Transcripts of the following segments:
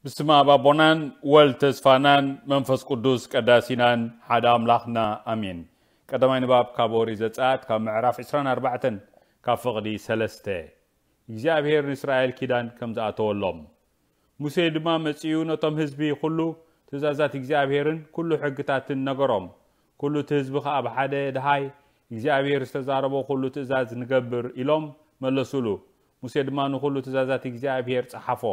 ብስመ ኣብ ኣቦናን ወልድ ተስፋናን መንፈስ ቅዱስ ቀዳሲናን ሓደ ኣምላኽና ኣሜን። ቀዳማይ ንባብ ካብ ኦሪት ዘጸኣት ካብ ምዕራፍ ዕስራን ኣርባዕተን ካብ ፍቕዲ ሰለስተ። እግዚኣብሔር ንእስራኤል ኪዳን ከም ዝኣተወሎም። ሙሴ ድማ መጺኡ ነቶም ህዝቢ ኩሉ ትእዛዛት እግዚኣብሔርን ኩሉ ሕግታትን ነገሮም። ኩሉ እቲ ህዝቢ ኸኣ ብሓደ ድሃይ እግዚኣብሔር ዝተዛረቦ ኩሉ ትእዛዝ ንገብር ኢሎም መለሱሉ። ሙሴ ድማ ንኹሉ ትእዛዛት እግዚኣብሔር ጸሓፎ።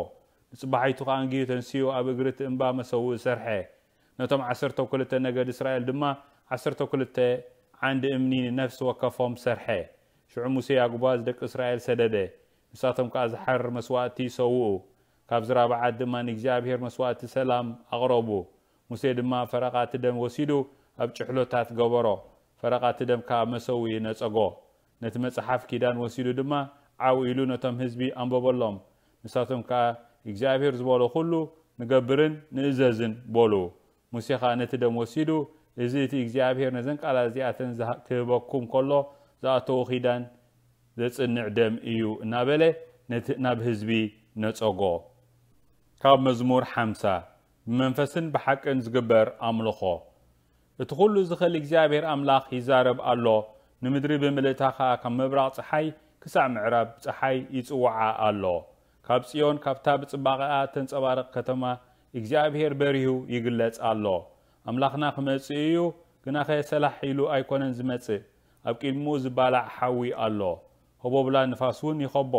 ንጽባሒቱ ኸኣ ኣንጊሁ ተንሲኡ ኣብ እግሪ እቲ እምባ መሰውኢ ሰርሐ። ነቶም ዓሰርተ ክልተ ነገድ እስራኤል ድማ ዓሰርተ ክልተ ዓንዲ እምኒ ንነፍሲ ወከፎም ሰርሐ። ሽዑ ሙሴ ኣጉባዝ ደቂ እስራኤል ሰደደ። ንሳቶም ከኣ ዝሓርር መስዋእቲ ሰውኡ። ካብ ዝራብዓት ድማ ንእግዚኣብሔር መስዋእቲ ሰላም ኣቕረቡ። ሙሴ ድማ ፈረቓ እቲ ደም ወሲዱ ኣብ ጭሕሎታት ገበሮ። ፈረቓ እቲ ደም ከኣ መሰውኢ ነጸጎ። ነቲ መጽሓፍ ኪዳን ወሲዱ ድማ ዓው ኢሉ ነቶም ህዝቢ ኣንበበሎም። ንሳቶም ከኣ እግዚኣብሔር ዝበሎ ኩሉ ንገብርን ንእዘዝን በሉ። ሙሴ ኸኣ ነቲ ደም ወሲዱ፣ እዚ እቲ እግዚኣብሔር ነዘን ቃላት እዚኣተን ዝሃ-፣ ክህበኩም ከሎ ዝኣተዎ ኪዳን ዘጽንዕ ደም እዩ እናበለ ነቲ ናብ ህዝቢ ነጸጎ። ካብ መዝሙር ሓምሳ። ብመንፈስን ብሓቅን ዝግበር ኣምልኾ። እቲ ኩሉ ዝኽእል እግዚኣብሔር ኣምላኽ ይዛረብ ኣሎ፣ ንምድሪ ብምልእታ ኸኣ ካብ ምብራቕ ጸሓይ ክሳዕ ምዕራብ ጸሓይ ይጽውዓ ኣሎ። ካብ ጽዮን፣ ካብታ ብጽባቐኣ እተንጸባርቕ ከተማ እግዚኣብሔር በሪሁ ይግለጽ ኣሎ። ኣምላኽና ክመጽእ እዩ፣ ግናኸ ሰላሕ ኢሉ ኣይኮነን ዝመጽእ፣ ኣብ ቅድሚኡ ዝባላዕ ሓዊ ኣሎ። ህቦብላ ንፋስ እውን ይኸቦ።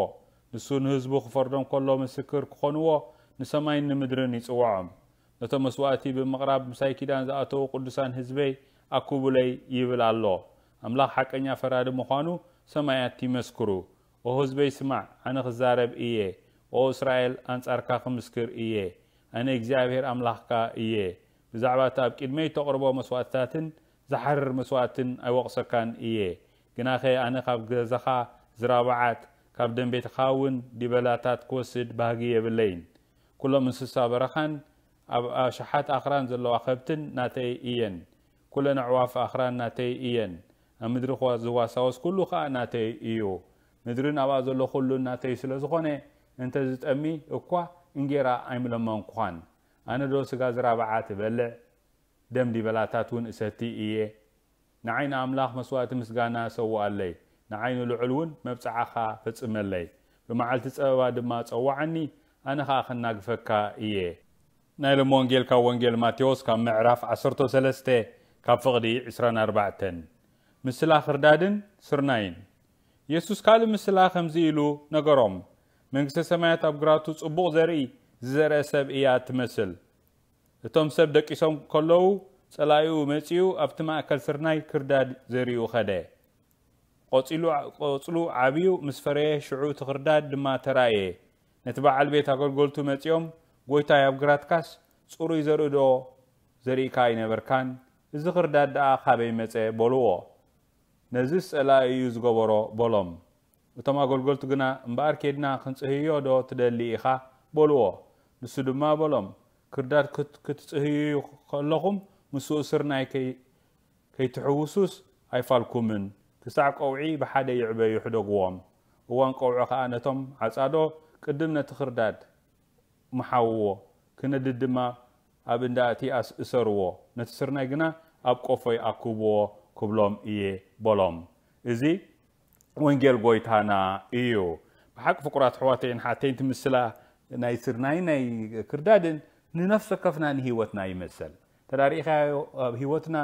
ንሱ ንህዝቡ ክፈርዶም ከሎ ምስክር ክኾንዎ ንሰማይን ንምድርን ይጽውዖም። ነቶም መስዋእቲ ብምቕራብ ምሳይ ኪዳን ዝኣተዉ ቅዱሳን ህዝበይ ኣኩቡለይ ይብል ኣሎ። ኣምላኽ ሓቀኛ ፈራዲ ምዃኑ ሰማያት ይመስክሩ። ኦ ህዝበይ ስማዕ፣ ኣነ ክዛረብ እየ። ኦ እስራኤል ኣንጻርካ ክምስክር እየ። ኣነ እግዚኣብሔር ኣምላኽካ እየ። ብዛዕባ እቲ ኣብ ቅድመይ ተቕርቦ መስዋእትታትን ዝሓርር መስዋእትን ኣይወቕሰካን እየ። ግናኸ ኣነ ካብ ገዛኻ ዝራብዓት፣ ካብ ደም ቤትኻ እውን ዲበላታት ክወስድ ባህጊ የብለይን። ኩሎም እንስሳ በረኻን ኣብ ኣሽሓት ኣኽራን ዘለዋ ከብትን ናተይ እየን። ኩለን ኣዕዋፍ ኣኽራን ናተይ እየን። ኣብ ምድሪ ኸዋ-፣ ዝዋሳወስ ኩሉ ኸኣ ናተይ እዩ። ምድርን ኣብኣ ዘሎ ኩሉን ናተይ ስለ ዝኾነ፣ እንተ ዝጠሚ እኳ እንጌራ ኣይምለመንኩኻን። ኣነ ዶ ስጋ ዝራብዓት እበልዕ? ደም ዲበላታት እውን እሰቲ እየ? ንዓይ ንኣምላኽ መስዋእቲ ምስጋና ሰውኣለይ፣ ንዓይ ንልዑል እውን መብጽዓኻ ፈጽመለይ። ብመዓልቲ ጸበባ ድማ ጸውዓኒ፣ ኣነ ኸኣ ኸናግፈካ እየ። ናይ ሎሚ ወንጌል ካብ ወንጌል ማቴዎስ ካብ ምዕራፍ ዓሰርተ ሰለስተ ካብ ፍቕዲ ዕስራን ኣርባዕተን። ምስላ ኽርዳድን ስርናይን። የሱስ ካልእ ምስላ ከምዚ ኢሉ ነገሮም፣ መንግስተ ሰማያት ኣብ ግራቱ ጽቡቕ ዘርኢ ዝዘርአ ሰብ እያ እትመስል። እቶም ሰብ ደቂሶም ከለዉ፣ ጸላኢኡ መጺኡ ኣብቲ ማእከል ስርናይ ክርዳድ ዘሪኡ ኸደ። ቆጺሉ፣ ቆጽሉ ዓብዩ ምስ ፈረየ፣ ሽዑ እቲ ክርዳድ ድማ ተራእየ። ነቲ በዓል ቤት ኣገልገልቱ መጺኦም፣ "ጐይታይ፣ ኣብ ግራትካስ ጽሩይ ዘርኢ ዶ ዘሪእካ ኣይነበርካን? እዚ ክርዳድ ደኣ ካበይ መጸ?" በልዎ። "ነዝስ ጸላኢ እዩ ዝገበሮ" በሎም። እቶም ኣገልገልቱ ግና፣ "እምበኣር ኬድና ክንጽህዮ ዶ ትደሊ ኢኻ?" በልዎ። ንሱ ድማ በሎም፣ "ክርዳድ ክት-፣ ክትጽህዩ ከለኹም፣ ምስኡ ስርናይ ከይ-፣ ከይትሕውሱስ ኣይፋልኩምን። ክሳዕ ቀውዒ ብሓደ ይዕበዩ ሕደግዎም። እዋን ቀውዒ ኸኣ ነቶም ዓጻዶ ቅድም ነቲ ክርዳድ ምሓውዎ፣ ክነድድ ድማ ኣብ እንዳ እቲ ኣስ-፣ እሰርዎ፣ ነቲ ስርናይ ግና ኣብ ቆፎይ ኣክብዎ ክብሎም እየ" በሎም። እዚ ወንጌል ጐይታና እዩ። ብሓቂ ፍቁራት ኣሕዋተይን ሓተይን፣ እቲ ምስላ ናይ ስርናይን ናይ ክርዳድን ንነፍሲ ወከፍና ንህይወትና ይመሰል። ተዳሪእኻዮ ኣብ ህይወትና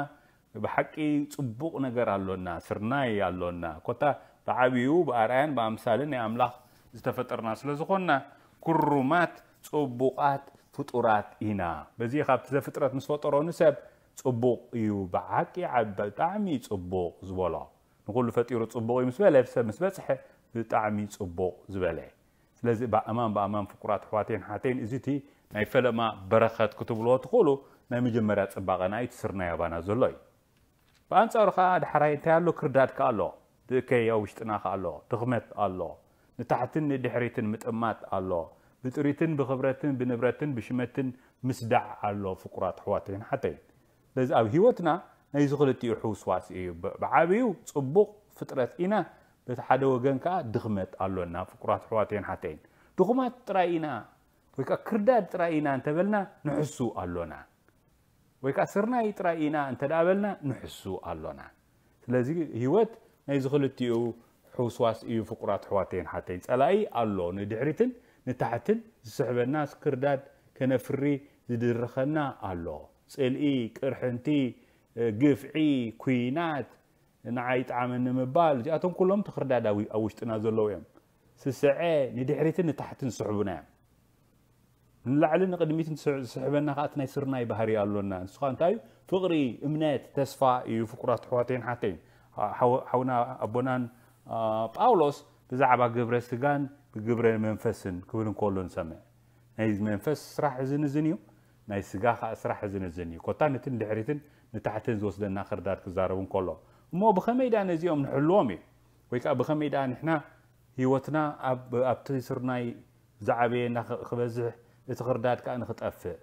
ብሓቂ ጽቡቕ ነገር ኣሎና፣ ስርናይ ኣሎና። ኮታ ብዓብዩ ብኣርኣያን ብኣምሳልን ናይ ኣምላኽ ዝተፈጠርና ስለ ዝኾንና፣ ክሩማት ጽቡቓት ፍጡራት ኢና። በዚ ካብቲ ዘፍጥረት ምስ ፈጠሮ ንሰብ ጽቡቕ እዩ፣ ብሓቂ ዓብ-፣ ብጣዕሚ ጽቡቕ ዝበሎ። ንኹሉ ፈጢሩ ጽቡቕ እዩ ምስ በለ፣ ሰብ ምስ በጽሐ ብጣዕሚ ጽቡቕ ዝበለ። ስለዚ ብኣማን ብኣማን ፍቁራት ኣሕዋተይን ሓተይን፣ እዚ እቲ ናይ ፈለማ በረኸት ክትብልዎ ትኽእሉ ናይ መጀመርያ ጽባቐና እዩ፣ እቲ ስርናይ ኣባና ዘሎ እዩ። ብኣንጻሩ ከኣ ዳሕራይ እንታይ ኣሎ? ክርዳድ ከኣ ኣሎ። እቲ እከይ ኣብ ውሽጥና ከኣ ኣሎ። ድኽመት ኣሎ። ንታሕትን ንድሕሪትን ምጥማት ኣሎ። ብጥሪትን ብኽብረትን ብንብረትን ብሽመትን ምስዳዕ ኣሎ፣ ፍቁራት ኣሕዋተይን ሓተይን። ስለዚ ኣብ ህይወትና ናይዚ ክልቲኡ ሕውስዋስ እዩ። ብ-፣ ብዓብዩ ጽቡቕ ፍጥረት ኢና፣ በቲ ሓደ ወገን ከኣ ድኽመት ኣሎና፣ ፍቁራት ኣሕዋተይን ሓተይን። ድኹማት ጥራይ ኢና። ወይ ከዓ ክርዳድ ጥራይ ኢና እንተበልና ንሕሱ ኣሎና። ወይ ከዓ ስርናይ ጥራይ ኢና እንተ ደኣ በልና ንሕሱ ኣሎና። ስለዚ ህይወት ናይዚ ክልቲኡ ሕውስዋስ እዩ። ፍቁራት ኣሕዋተይን ሓተይን፣ ጸላኢ ኣሎ፣ ንድሕሪትን ንታሕትን ዝስሕበና፣ ክርዳድ ከነፍሪ ዝድርኸና ኣሎ። ጽልኢ፣ ቅርሕንቲ፣ ግፍዒ፣ ኩናት፣ ንዓይ ይጥዓመኒ ምባል፣ እዚኣቶም ኩሎም ትኽርዳድ ኣብ ኣብ ውሽጥና ዘለዉ እዮም። ስስዐ፣ ንድሕሪትን ንታሕትን ዝስሕቡና እዮም። ንላዕሊ ንቕድሚት ዝስሕበና ከዓ እቲ ናይ ስርናይ ባህሪ ኣሎና። ንሱ ከዓ እንታይ እዩ? ፍቕሪ፣ እምነት፣ ተስፋ እዩ። ፍቁራት ኣሕዋተይን ሓተይን፣ ሓው- ሓውና ኣቦናን ጳውሎስ ብዛዕባ ግብረ ስጋን ግብረ መንፈስን ክብል እንከሎ ንሰምዕ። ናይ መንፈስ ስራሕ እዝን እዝን እዩ፣ ናይ ስጋ ከዓ ስራሕ እዝን እዝን እዩ። ኮታ ነቲ ንድሕሪትን ንታሕትን ዝወስደና ክርዳድ ክዛረብ እንከሎ፣ እሞ ብኸመይ ደኣ ነዚኦም ንሕልዎም እዩ? ወይ ከዓ ብኸመይ ደኣ ንሕና ህይወትና ኣብቲ ስርናይ ዝዓበየና ክበዝሕ፣ እቲ ክርዳድ ከዓ ንክጠፍእ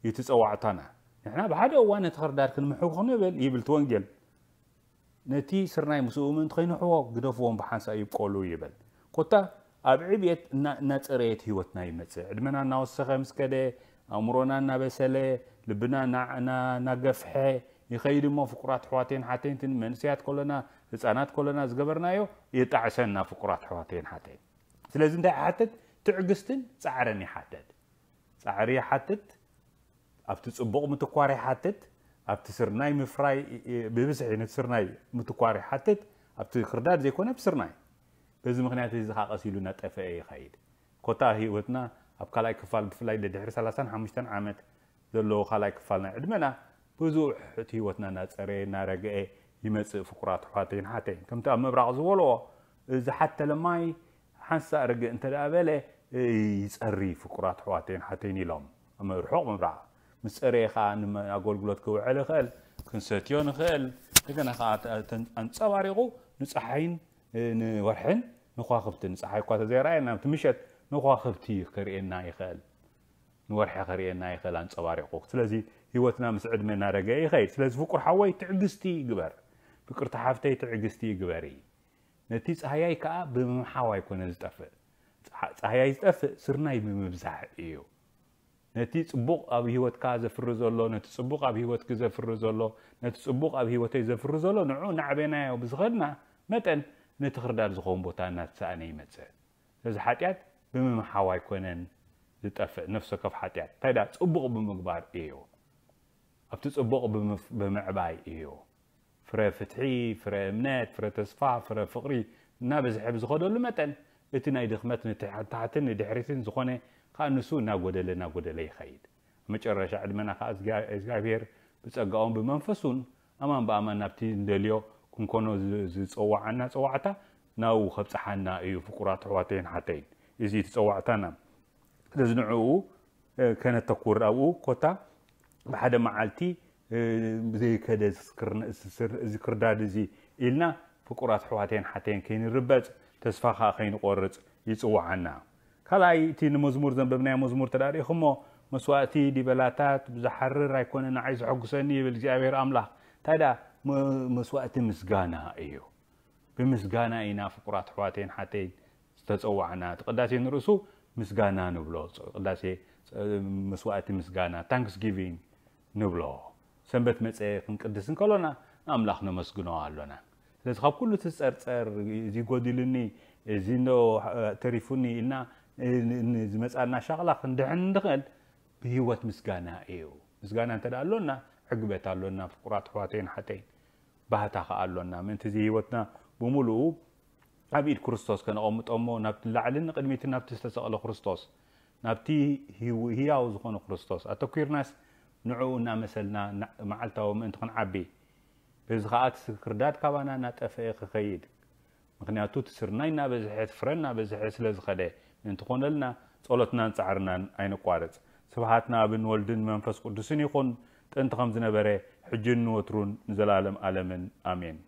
እዩ እቲ ፀዋዕታና። ንሕና ብሓደ እዋን ነቲ ክርዳድ ክንምሕው ክንብል ይብል እቲ ወንጌል። ነቲ ስርናይ ምስኡ ምእንቲ ከይንሕዎ ግደፍዎም፣ ብሓንሳእ ይብቆሉ ይብል። ኮታ ኣብ ዕብየት እናፀረየት ህይወትና ይመፅእ። ዕድመና እናወሰኸ ምስ ከደ፣ ኣእምሮና እናበሰለ፣ ልብና እናገፍሐ ይኸይድ እሞ፣ ፍቁራት ኣሕዋተይን ሓተይን፣ መንእሰያት ከሎና፣ ህፃናት ከሎና ዝገበርናዮ የጣዕሰና። ፍቁራት ኣሕዋተይን ሓተይን፣ ስለዚ እንታይ ይሓትት? ትዕግስትን ፃዕርን ይሓትት። ፃዕሪ ይሓትት፣ ኣብቲ ፅቡቕ ምትኳር ይሓትት፣ ኣብቲ ስርናይ ምፍራይ፣ ብብዝሒ ነቲ ስርናይ ምትኳር ይሓትት፣ ኣብቲ ክርዳድ ዘይኮነ ብስርናይ። በዚ ምኽንያት እዚ ከዓ ቀስ ኢሉ እናጠፈአ ይኸይድ። ኮታ ህይወትና ኣብ ካልኣይ ክፋል፣ ብፍላይ ድሕሪ ሰላሳን ሓሙሽተን ዓመት ዘለዎ ካልኣይ ክፋል ናይ ዕድመና፣ ብዙሕ እቲ ህይወትና እናፀረየ እናረግአ ይመፅእ። ፍቁራት ኣሕዋተይን ሓተይን፣ ከምቲ ኣብ ምብራቕ ዝበልዎ፣ ዝሓተለ ማይ ሓንሳእ ርግእ እንተ ደኣ በለ፣ ይፀሪ። ፍቁራት ኣሕዋተይን ሓተይን ኢሎም ኣብ ርሑቕ ምብራቕ። ምስ ፀረየ ከዓ ንኣገልግሎት ክውዕል ይኽእል፣ ክንሰትዮ ንኽእል። እንደገና ከዓ ኣንፀባሪቑ ንፀሓይን ንወርሕን ንኳኽብትን፣ ፀሓይ እኳ ተዘይረኣየና፣ እቲ ምሸት ንኳኽብቲ ከርእየና ይኽእል፣ ንወርሒ ከርእየና ይኽእል ኣንፀባሪቑ። ስለዚ ህይወትና ምስ ዕድመ እናረገአ ይኸይድ። ስለዚ ፍቁር ሓወይ ትዕግስቲ ግበር፣ ፍቅርቲ ሓፍተይ ትዕግስቲ ግበሪ። ነቲ ፃህያይ ከዓ ብምምሓው ኣይኮነ ዝጠፍእ። ፃ- ፃህያይ ዝጠፍእ ስርናይ ብምብዛሕ እዩ። ነቲ ፅቡቕ ኣብ ህይወትካ ዘፍሪ ዘሎ፣ ነቲ ፅቡቕ ኣብ ህይወትኪ ዘፍሪ ዘሎ፣ ነቲ ፅቡቕ ኣብ ህይወተይ ዘፍሪ ዘሎ፣ ንዑ እናዕበናዮ ብዝኸድና መጠን፣ ነቲ ክርዳድ ዝኸውን ቦታ እናተሰኣነ ይመፅእ። ስለዚ ሓጢኣት ብምምሓው ኣይኮነን ዝጠፍእ፣ ነፍሲ ወከፍ ሓጢኣት እንታይ ደኣ ፅቡቕ ብምግባር እዩ። ኣብቲ ፅቡቕ ብምፍ- ብምዕባይ እዩ። ፍረ ፍትሒ፣ ፍረ እምነት፣ ፍረ ተስፋ፣ ፍረ ፍቕሪ እናበዝሐ ብዝኸደሉ መጠን፣ እቲ ናይ ድኽመት ንታሕትን ንድሕሪትን ዝኾነ ከዓ ንሱ እናጎደለ እናጎደለ ይኸይድ። ኣብ መጨረሻ ዕድመና ከዓ እግዚኣብሔር ብጸጋኡን ብመንፈሱን ኣማን ብኣማን ናብቲ እንደልዮ ክንኮኖ ዝጸዋዓና ጸዋዕታ ናብኡ ከብጽሓና እዩ። ፍቁራት ኣሕዋተይን ሓተይን፣ እዚ እቲ ጸዋዕታና። ስለዚ ንዕኡ ከነተኩር ኣብኡ ኮታ ብሓደ መዓልቲ ብዘይከደ እዚ ክርዳድ እዚ ኢልና ፍቁራት ኣሕዋተይን ሓተይን ከይንርበጽ፣ ተስፋ ከዓ ከይንቆርጽ ይጽውዓና። ካልኣይ፣ እቲ ንመዝሙር ዘንበብናዮ መዝሙር ተዳሪእኹሞ፣ መስዋእቲ ዲበላታት ብዝሓርር ኣይኮነ ንዓይ ዘሐጉሰኒ ይብል እግዚኣብሔር ኣምላኽ። እንታይ ደኣ መስዋእቲ ምስጋና እዩ። ብምስጋና ኢና ፍቁራት ኣሕዋተይን ሓተይን ዝተጸዋዕና። እቲ ቅዳሴ ንርእሱ ምስጋና ንብሎ። ቅዳሴ መስዋእቲ ምስጋና፣ ታንክስጊቪንግ ንብሎ። ሰንበት መጸ ክንቅድስ እንከሎና ንኣምላኽ ነመስግኖ ኣሎና። ስለዚ ካብ ኩሉ እቲ ጸርጸር፣ እዚ ጎዲሉኒ፣ እዚ እንዶ ተሪፉኒ ኢልና ዝመጻና ሻቕላ ክንድሕን እንድኽእል ብህይወት ምስጋና እዩ። ምስጋና እንተ ደኣ ኣሎና ዕግበት ኣሎና ፍቁራት ኣሕዋተይን ሓተይን። ባህታ ከኣ ኣሎና። ምእንቲ እዚ ህይወትና ብምሉኡ ኣብ ኢድ ክርስቶስ ከነቐምጦ እሞ ናብቲ ንላዕልን ንቕድሚትን ናብቲ ዝተሰቕለ ክርስቶስ፣ ናብቲ ህያው ዝኾነ ክርስቶስ ኣተኲርናስ ንዕኡ እናመሰልና መዓልታዊ ምእንቲ ክንዓቢ፣ በዚ ከኣ እቲ ክርዳድ ካባና እናጠፍአ ክኸይድ፣ ምኽንያቱ እቲ ስርናይ እናበዝሐ እቲ ፍረ እናበዝሐ ስለ ዝኸደ ምእንቲ ኮነልና ጸሎትናን ጻዕርናን ኣይነቋርጽ። ስብሃት ንኣብን ወልድን መንፈስ ቅዱስን ይኹን፣ ጥንቲ ከም ዝነበረ፣ ሕጅን ንወትሩን ንዘላለም ኣለምን ኣሜን።